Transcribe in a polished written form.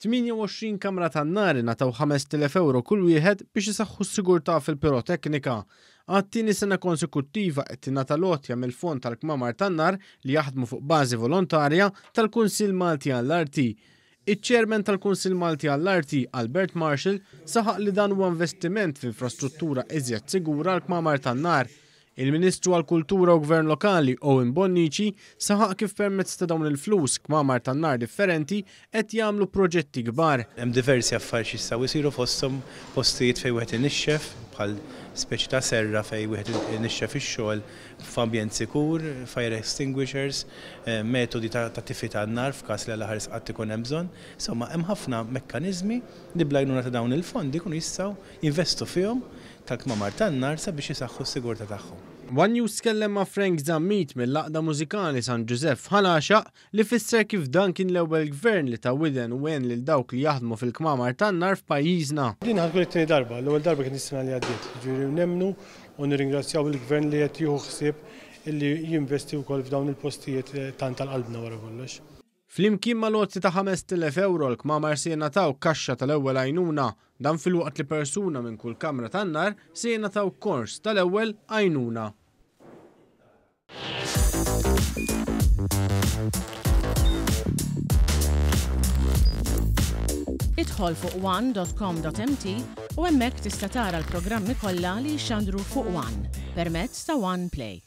28 kamra tan-nar ingħataw 5,000 ewro kull wieħed biex isaħħu s-sigurtà fil-piroteknika. Għat-tieni sena konsekuttiva qed tingħata l-għotja mill-Fond tal-Kmamar tan-Nar li jaħdmu fuq bażi volontarja tal-Kunsill Malti għall-Arti. Iċ-Chairman tal-Kunsill Malti għall-Arti, Albert Marshall, saħaq li dan huwa investiment f'infrastruttura iżjed sigura għall-kmamar tan-nar. Il-Ministru għall-Kultura u Gvern Lokali, Owen Bonnici, saħaq kif permezz ta' dawn il-flus, kmamar tan-nar differenti qed jagħmlu proġetti kbar. Hemm diversi affarijiet x'jistgħu jsiru fosthom postijiet fejn wieħed inixxef bħal speċi ta' serra fejn wieħed inixxef ix-xogħol f'ambjent sikur, fire extinguishers, metodi ta' tifi tan-nar f'każ li Alla ħares qatt ikun hemm bżonn. Insomma, hemm ħafna mekkaniżmi li bl-għajnuna ta' dawn il-fondi jkunu jistgħu jinvestu fihom tal-kmamar tan-nar sabiex isaħħu s-sigurtà tagħhom. One News tkellem ma' Frank Zammit mill-Għaqda Mużikali San Ġużepp f'Ħal Għaxaq li fisser kif dan kien l-ewwel Gvern li ta widen u għen lil dawk li jaħdmu fil-kmamar tan-nar f'pajjiżna. Din ħa tkun it-tieni darba, l-ewwel darba kienet is-sena li għaddiet. Jiġifieri nemmnu u nirringrazzjaw lill-Gvern li qed jieħu ħsieb illi jinvesti wkoll f'dawn il-postijiet tant għal qalbna wara kollox. Flimkien mal-għotja ta' 5,000 ewro l-kmamar se jingħataw kaxxa tal-ewwel għajnuna. Dan filwaqt li persuna minn kull kamra tan-nar se jingħataw kors tal-ewwel għajnuna. Idħol fuq one.com.mt u hemmhekk tista' tara l-programmi kollha li jixxandru fuq One permezz ta' One Play.